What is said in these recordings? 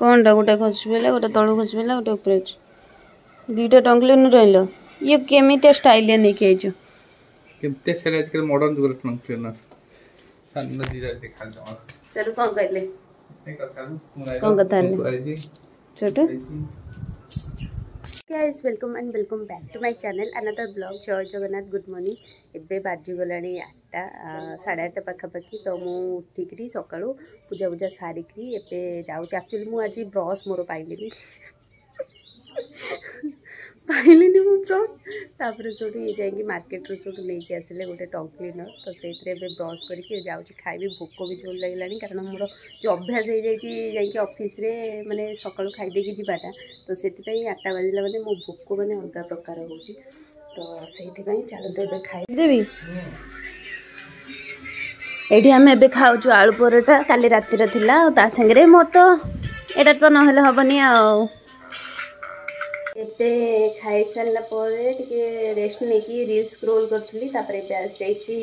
କ'ଣଟା ଗୋଟେ ଖସି ପଡ଼ିଲା, ଗୋଟେ ତଳକୁ ଖସି ପଡ଼ିଲା, ଗୋଟେ ଉପରେ ଅଛି। ଦୁଇଟା ଟଙ୍କ୍ କ୍ଲିନର୍ ଆଣିଲ। ଇଏ କେମିତିଆ ଷ୍ଟାଇଲିଆ ନେଇକି ଆଇଛ? କେମିତି ସେଟା ଆଜିକାଲି ମଡର୍ନ ଯୁଗର ଟଙ୍କ୍ କ୍ଲିନର୍। ସାନ ଦିଟା ଦେଖାଯାଉ। ସେଠୁ କ'ଣ କହିଲେ? କ'ଣ କଥା ହେଲେ ସେଠୁ? Guys, welcome and welcome back to my channel, another vlog. Jay Jagannath, good morning. ଏବେ ବାଜିଗଲାଣି 8ଟା, 8:30 ପାଖାପାଖି। ତ ମୁଁ ଉଠିକିରି ସକାଳୁ ପୂଜା ପୂଜା ସାରିକିରି ଏବେ ଯାଉଛି। ଆକ୍ଚୁଆଲି ମୁଁ ଆଜି ବ୍ରସ୍ ମୋର ପାଇଲିନି ମୁଁ ବ୍ରସ୍। ତାପରେ ସେଇଠୁ ଇଏ ଯାଇକି ମାର୍କେଟରୁ ସେଇଠୁ ନେଇକି ଆସିଲେ ଗୋଟେ ଟଙ୍କ୍ କ୍ଲିନର୍। ତ ସେଇଥିରେ ଏବେ ବ୍ରସ୍ କରିକି ଯାଉଛି ଖାଇବି। ଭୋକ ବି ଜୋର ଲାଗିଲାଣି, କାରଣ ମୋର ଯେଉଁ ଅଭ୍ୟାସ ହେଇଯାଇଛି ଯାଇକି ଅଫିସରେ ମାନେ ସକାଳୁ ଖାଇଦେଇକି ଯିବାଟା, ତ ସେଥିପାଇଁ 8ଟା ବାଜିଲା ମାନେ ମୋ ଭୋକ ମାନେ ଅଲଗା ପ୍ରକାର ହେଉଛି। ତ ସେଇଥିପାଇଁ ଚାଲନ୍ତୁ ଏବେ ଖାଇଦେବି। ଏଇଠି ଆମେ ଏବେ ଖାଉଛୁ ଆଳୁ ପରଟା, କାଲି ରାତିର ଥିଲା, ଆଉ ତା ସାଙ୍ଗରେ ମୋର ତ ଏଇଟା ତ ନହେଲେ ହେବନି। ଆଉ ଏବେ ଖାଇସାରିଲା ପରେ ଟିକେ ରେଷ୍ଟ ନେଇକି ରିଲ୍ସ ସ୍କ୍ରୋଲ୍ କରୁଥିଲି। ତାପରେ ଏବେ ଆସିଯାଇଛି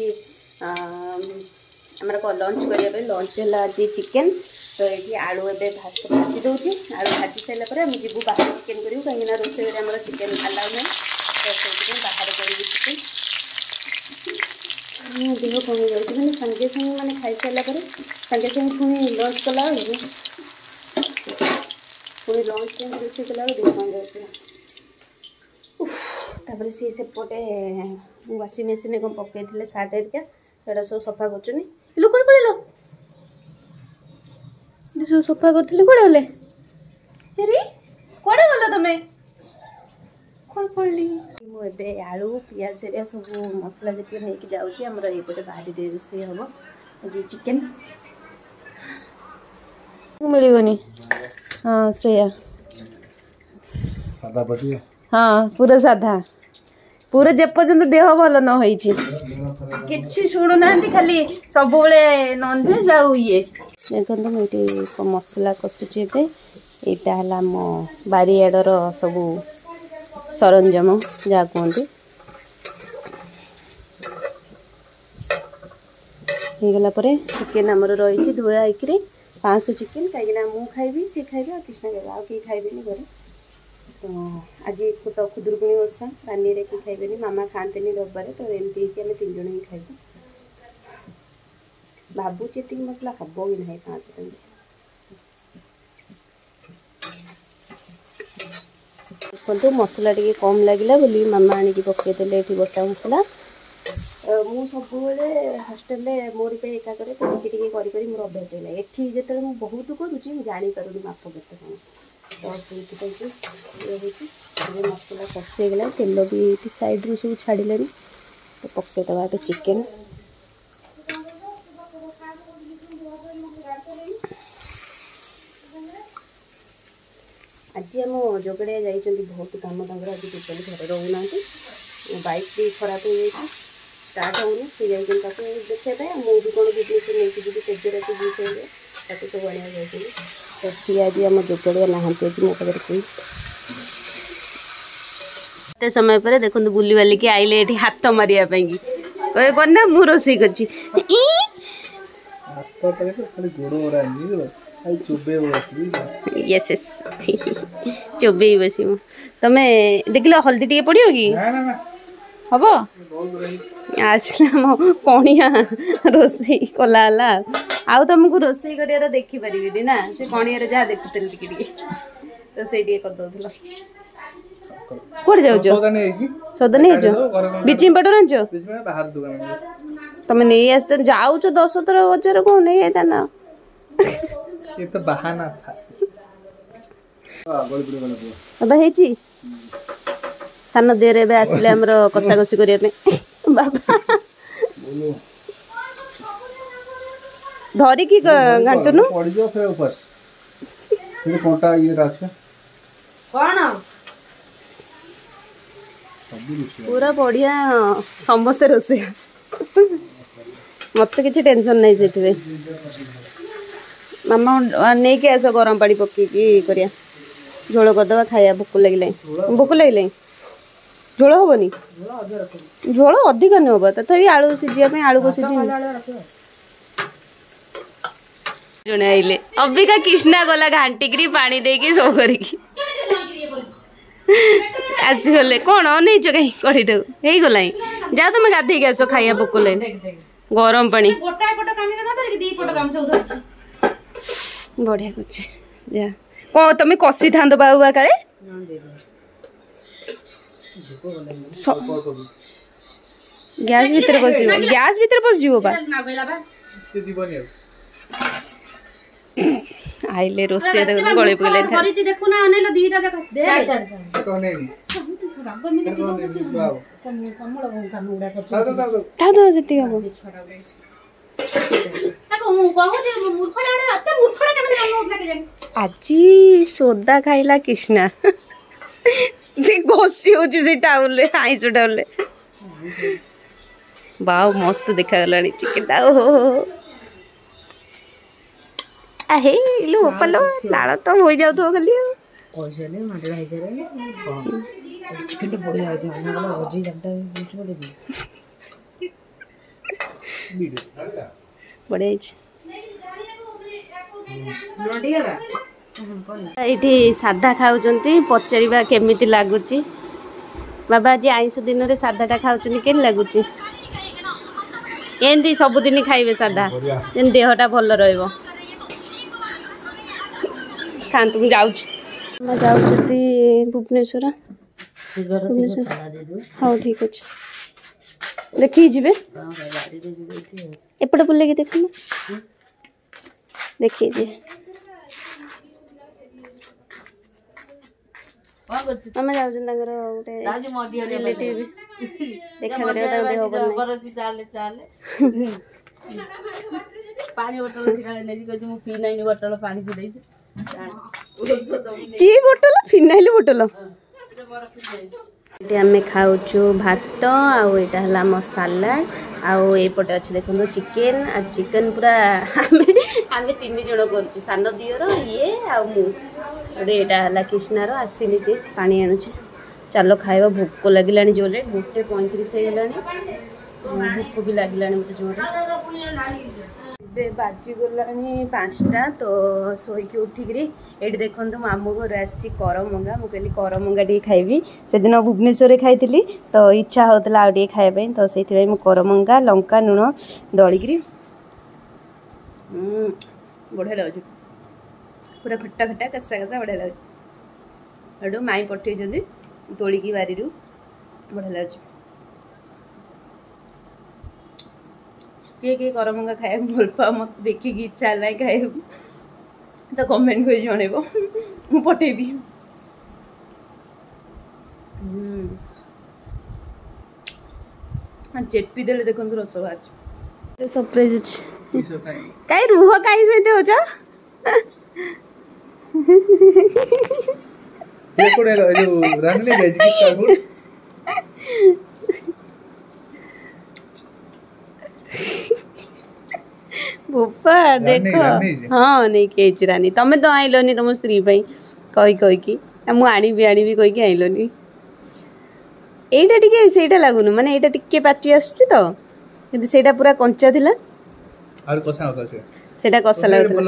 ଆମର ଲଞ୍ଚ କରିବା ପାଇଁ। ଲଞ୍ଚ ହେଲା ଆଜି ଚିକେନ୍। ତ ଏଇଠି ଆଳୁ ଏବେ ଭାଜି ଦେଉଛି। ଆଳୁ ଭାଜି ସାରିଲା ପରେ ଆମେ ଯିବୁ ବାହାରେ ଚିକେନ୍ କରିବୁ, କାହିଁକିନା ରୋଷେଇ ଘରେ ଆମର ଚିକେନ୍ ଆଲାଉ ନାହିଁ। ତ ସେଇଥିପାଇଁ ବାହାରେ କରିବୁ ଚିକେନ୍। ଦେହ କମି ଯାଉଛି, ମାନେ ସାଙ୍ଗେ ସାଙ୍ଗେ ମାନେ ଖାଇସାରିଲା ପରେ ସାଙ୍ଗେ ସାଙ୍ଗେ ପୁଣି ଲଞ୍ଚ କଲା ବେଳକୁ, ପୁଣି ଲଞ୍ଚ ଟାଇମ୍ ରୋଷେଇ କଲା ବେଳକୁ ଦେହ କମି ଯାଉଛି। ତାପରେ ସିଏ ସେପଟେ ୱାସିଂ ମେସିନ୍ରେ କ'ଣ ପକେଇଥିଲେ ସାର୍ଟ ହେରିକା, ସେଇଟା ସବୁ ସଫା କରୁଛନ୍ତି। ଲୋ, କୁଆଡ଼େ ପଳେଇଲ? ସବୁ ସଫା କରୁଥିଲେ, କୁଆଡ଼େ ଗଲେ? ହେରି, କୁଆଡ଼େ ଗଲ ତମେ? କୁଆଡ଼େ ପଳେଇଲି ମୁଁ? ଏବେ ଆଳୁ ପିଆଜ ହେରିକା ସବୁ ମସଲା ଯେତିକି ନେଇକି ଯାଉଛି। ଆମର ଏଇପଟେ ବାରିରେ ରୋଷେଇ ହେବ ଆଜି ଚିକେନ୍। ମିଳିବନି। ହଁ, ସେଇଆ। ହଁ, ପୁରା ସାଧା ପୁରା, ଯେପର୍ଯ୍ୟନ୍ତ ଦେହ ଭଲ ନ ହେଇଛି। କିଛି ଶୁଣୁନାହାନ୍ତି, ଖାଲି ସବୁବେଳେ ନନଭେଜ୍ ଆଉ ଇଏ। ଦେଖନ୍ତୁ, ମୁଁ ଏଇଠି ମସଲା କଷୁଛି ଏବେ। ଏଇଟା ହେଲା ଆମ ବାରିଆଡ଼ର ସବୁ ସରଞ୍ଜାମ ଯାହା କୁହନ୍ତି। ହେଇଗଲା ପରେ ଚିକେନ୍ ଆମର ରହିଛି ଧୁଆ ହେଇକିରି, 500 ଚିକେନ୍, କାହିଁକିନା ମୁଁ ଖାଇବି, ସିଏ ଖାଇବେ ଆଉ କୃଷ୍ଣ ଖାଇବେ, ଆଉ କେହି ଖାଇବେନି ଘରେ। ତ ଆଜି ତ ଖୁଦୁରୁକୁଣୀ ଓଷା, ରାନୀରେ କେହି ଖାଇବେନି, ମାମା ଖାଆନ୍ତିନି ରବିବାରେ। ତ ଏମିତି ହେଇକି ଆମେ 3 ଜଣ ହିଁ ଖାଇବୁ। ଭାବୁଛି ଏତିକି ମସଲା ହବ କି ନାହିଁ 500 ଟଙ୍କା। ଦେଖନ୍ତୁ, ମସଲା ଟିକେ କମ୍ ଲାଗିଲା ବୋଲି ମାମା ଆଣିକି ପକେଇଦେଲେ ଏଠି ଗୋଟା ମସଲା। ମୁଁ ସବୁବେଳେ ହଷ୍ଟେଲରେ ମୋରି ପାଇଁ ଏକା କରେ, ତ ଟିକେ ଟିକେ କରି କରି ମୋର ଅଭ୍ୟାସ ହେଇଗଲା। ଏଠି ଯେତେବେଳେ ମୁଁ ବହୁତ କରୁଛି, ମୁଁ ଜାଣିପାରୁନି ମାପ କେତେ କ'ଣ। ତ ସେଇଥିପାଇଁ କି ଇଏ ହେଉଛି। ଏବେ ମସଲା କଷି ହେଇଗଲା, ତେଲ ବି ଏଇଠି ସାଇଡ଼ରୁ ସବୁ ଛାଡ଼ିଲେଣି, ତ ପକେଇଦେବା ଏବେ ଚିକେନ୍। ଆଜି ଆମ ଯୋଗଡ଼ିଆ ଯାଇଛନ୍ତି ବହୁତ କାମ ତାଙ୍କର, ଆଜି ଟୋଟାଲି ଘରେ ରହୁନାହାନ୍ତି। ବାଇକ୍ ବି ଖରାପ ହେଇଯାଇଛି, ଷ୍ଟାର୍ଟ ହେଉନି। ସେ ଯାଇଛନ୍ତି ତାକୁ ଦେଖିବା ପାଇଁ। ଆଉ ମୁଁ ବି କ'ଣ ଭୁବନେଶ୍ୱର ନେଇକି ଯିବି ତେଜରାତି ଜିନିଷ ହେଇଯାଏ, ତାକୁ ସବୁ ଆଣିବାକୁ ଯାଇଛନ୍ତି। ତ ସିଏ ଆଜି ଆମ ଯୋଗାଡ଼ିଆ ନାହାନ୍ତି ଆଜି ମୋ ପାଖରେ କେହି। ଏତେ ସମୟ ପରେ ଦେଖନ୍ତୁ ବୁଲିବାଲିକି ଆଇଲେ ଏଠି ହାତ ମାରିବା ପାଇଁକି। କହିବେ କ'ଣ ନା ମୁଁ ରୋଷେଇ କରିଛି। ୟେସ୍ ୟେସ୍, ଚୋବେଇ ବସିବ ତମେ। ଦେଖିଲ, ହଳଦୀ ଟିକେ ପଡ଼ିବ କି ହବ? ଆସିଲା ଆମ କଣିଆ ରୋଷେଇ କଲା ହେଲା। ଆଉ ତମକୁ ରୋଷେଇ କରିବାର ଦେଖିପାରିବିନି ନା? ସେ କଣିଆରେ ଯାହା ଦେଖୁଥିଲି, ଟିକେ ଟିକେ ରୋଷେଇ ଟିକେ କରିଦଉଥିଲ। କୁଆଡେ ଯାଉଛ? ସଉଦା ନେଇଛ? ବ୍ଲିଚିଂ ପାଉଡର ଆଣିଛ? ତମେ ନେଇ ଆସିଛ, ଯାଉଛ 10 ଥର ବଜାର, କଣ ନେଇ ଆଇଥାନ୍ତ? ବାବା ହେଇଛି। ସାନ ଦିଅରେ ଏବେ ଆସିଲେ ଆମର କଷାକଷି କରିବା ପାଇଁ। ବାବା ଧରିକି ଘାଣ୍ଟୁନୁ। ପୁରା ବଢିଆ, ସମସ୍ତେ ରୋଷେଇ, ମତେ କିଛି ଟେନସନ ନାହିଁ ସେଥିପାଇଁ। ମାମା, ନେଇକି ଆସ, ଗରମ ପାଣି ପକେଇକି କରିବା, ଝୋଳ କରିଦେବା, ଖାଇବା। ଭୋକ ଲାଗିଲାଣି, ଭୋକ ଲାଗିଲାଣି। ଝୋଳ ହବନି, ଝୋଳ ଅଧିକ ନୁହଁ, ତଥାପି ଆଳୁ ସିଝିବା ପାଇଁ। ଆଳୁ ସିଝିନି। ଜଣେ ଆଇଲେ ଅବିକା କୃଷ୍ଣା ଗଲା ଘାଣ୍ଟିକିରି ପାଣି ଦେଇକି ସବୁ କରିକି ଆସିଗଲେ। କଣ ଅନେଇଛ କାହିଁ? କଢେଇଟାକୁ ହେଇଗଲାଣି, ଯାଅ ତମେ ଗାଧେଇକି ଆସ, ଖାଇବା ପୋକଲାଣି ଗରମ ପାଣି। ବଢିଆ କରୁଛି। ଯା କଣ ତମେ କଷିଥାନ୍ତ ବାବୁ କାଳେ ଗ୍ୟାସ୍ ଭିତରେ ପଶିବ, ଗ୍ୟାସ୍ ଭିତରେ ପଶିଯିବ ବା। ଆଇଲେ ରୋଷେଇ ଗଳେଇ ପକେଇଲେ। ଥାଉ ଥାଉ ସେତିକି ହବ। ଆଜି ସୋଦା ଖାଇଲା କୃଷ୍ଣା, ସେ ଘଷି ହଉଛି ସେ ଟାଉଲରେ, ଆଇଁଷ ଟାଉଲରେ। ବାଉ ମସ୍ତ ଦେଖାଗଲାଣି ଚିକେନଟା। ଓହୋ ହେଇ ଲୋ ବୋପାଲୋ, ଲାଳ ତ ବୋହି ଯାଉଥିବ ଖାଲି। ଆଉ ବଢିଆ ହେଇଛି। ଏଇଠି ସାଧା ଖାଉଛନ୍ତି, ପଚାରିବା କେମିତି ଲାଗୁଛି। ବାବା ଆଜି ଆଇଁଷ ଦିନରେ ସାଧାଟା ଖାଉଛନ୍ତି, କେମିତି ଲାଗୁଛି? ଏମିତି ସବୁଦିନ ଖାଇବେ ସାଧା, ଯେମିତି ଦେହଟା ଭଲ ରହିବ। ଖାଆନ୍ତୁ, ମୁଁ ଯାଉଛି। ଆମେ ଯାଉଛନ୍ତି ଭୁବନେଶ୍ୱର। ଭୁବନେଶ୍ୱର ହଉ ଠିକ ଅଛି, ଦେଖିକି ଯିବେ। ଏପଟେ ବୁଲେଇକି ଦେଖୁନ, ଦେଖିକି ଯିବେ। ମାମା ଯାଉଛନ୍ତି ତାଙ୍କର ଗୋଟେ ରିଲେଟିଭ ଦେଖା କରିବାକୁ, ତାଙ୍କ ଦେହ ଭଲ ନାହିଁ। କି ବୋଟଲ? Phenyl bottle. ଏଠି ଆମେ ଖାଉଛୁ ଭାତ, ଆଉ ଏଇଟା ହେଲା ଆମ ସାଲାଡ଼, ଆଉ ଏଇପଟେ ଅଛି ଦେଖନ୍ତୁ ଚିକେନ। ଆଉ ଚିକେନ ପୁରା ଆମେ 3 ଜଣ କରୁଛୁ, ସାନ ଦିଅର, ଇଏ ଆଉ ମୁଁ। ଏଇଟା ହେଲା କୃଷ୍ଣାର, ଆସିନି ସେ, ପାଣି ଆଣୁଛି। ଚାଲ ଖାଇବା, ଭୋକ ଲାଗିଲାଣି ଜୋରରେ। 1:35 ହେଇଗଲାଣି, ଭୋକ ବି ଲାଗିଲାଣି ମୋତେ ଜୋରରେ। ଏବେ ବାଜିଗଲାଣି 5ଟା। ତ ଶୋଇକି ଉଠିକିରି ଏଇଠି ଦେଖନ୍ତୁ ମାମୁଁ ଘରୁ ଆସିଛି କରମଙ୍ଗା। ମୁଁ କହିଲି କରମଙ୍ଗା ଟିକେ ଖାଇବି, ସେଦିନ ଭୁବନେଶ୍ୱରରେ ଖାଇଥିଲି ତ ଇଚ୍ଛା ହେଉଥିଲା ଆଉ ଟିକେ ଖାଇବା ପାଇଁ, ତ ସେଇଥିପାଇଁ ମୁଁ କରମଙ୍ଗା ଲଙ୍କା ଲୁଣ ଦଳିକିରି ବଢ଼ିଆ ଲାଗୁଛି, ପୁରା ଖଟା ଖଟା କଷା କଷା ବଢ଼ିଆ ଲାଗୁଛି। ସେଠୁ ମାଇଁ ପଠେଇଛନ୍ତି ତୋଳିକି ବାରିରୁ, ବଢ଼ିଆ ଲାଗୁଛି। କିଏ କିଏ କରମଙ୍ଗା ଖାଇବାକୁ ଭଲ ପାଅ, ମୋତେ ଦେଖିକି ଇଚ୍ଛା ହେଲାଣି ଖାଇବାକୁ, ତ କମେଣ୍ଟ କରି ଜଣେଇବ, ମୁଁ ପଠେଇବି। ଚେପି ଦେଲେ ଦେଖନ୍ତୁ ରସ ବାହାରୁଛି। ସରପ୍ରାଇଜ ଅଛି। କାଇଁ ରୁହ, କାଇଁ ସେମିତି ହଉଛ? ବୋପା ଦେଖ, ହଁ ନେଇକି ଆଇଛି ରାନୀ। ତମେ ତ ଆଇଲନି ତମ ସ୍ତ୍ରୀ ପାଇଁ କହି କହିକି, ମୁଁ ଆଣିବି ଆଣିବି କହିକି ଆଇଲନି। ଏଇଟା ଟିକେ ସେଇଟା ଲାଗୁନି, ମାନେ ଏଇଟା ଟିକେ ପାଚି ଆସୁଛି ତ, କିନ୍ତୁ ସେଇଟା ପୁରା କଞ୍ଚା ଥିଲା, ସେଇଟା କଷା ଲାଗୁଥିଲା।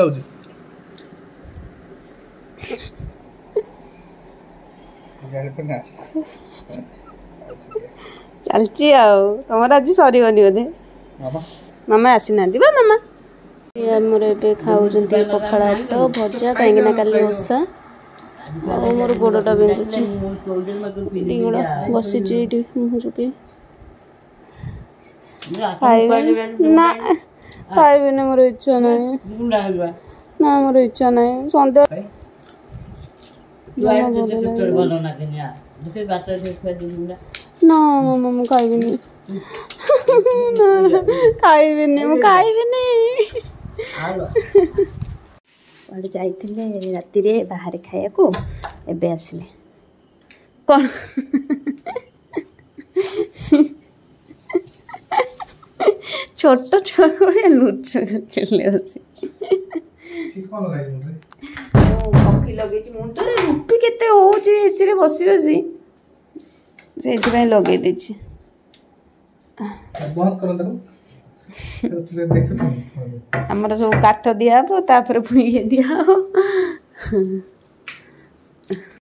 ଚାଲିଛି ଆଉ ତମର ଆଜି ସରିବନି ବୋଧେ? ମାମା ଆସିନାହାନ୍ତି ବା। ମାମା ଆମର ଏବେ ଖାଉଛନ୍ତି ପଖାଳ ଭାତ ଭଜା, କାହିଁକିନା କାଲି ଓଷା। ଆଉ ମୋର ଗୋଡ଼ଟା ବିନ୍ଧୁଛି, ଦି ଗୋଡ଼ ବସିଛି ଏଇଠି ମୁହଁ ଚୁପି। ଖାଇବେନି ନା, ଖାଇବେନି, ମୋର ଇଚ୍ଛା ନାହିଁ ନା, ମୋର ଇଚ୍ଛା ନାହିଁ। ସନ୍ଧ୍ୟା ନା ମାମା, ମୁଁ ଖାଇବିନି, ଖାଇବିନି, ମୁଁ ଖାଇବିନି। କୁଆଡ଼େ ଯାଇଥିଲେ ରାତିରେ ବାହାରେ ଖାଇବାକୁ, ଏବେ ଆସିଲେ। କ'ଣ ଛୋଟ ଛୁଆ ଭଳିଆ ଲୁଚ ଖେଳିଲେ ଅଛି। ମୁଁ କଫି ଲଗେଇଛି ମୁଣ୍ଡରେ, ରୁପି କେତେ ହଉଛି ଏସିରେ ବସି ବସି, ସେଇଥିପାଇଁ ଲଗେଇ ଦେଇଛି। ବନ୍ଦ କରନ୍ତୁ। ଆମର ସବୁ କାଠ ଦିଆହବ, ତାପରେ ପୁଣି ଇଏ ଦିଆହବ।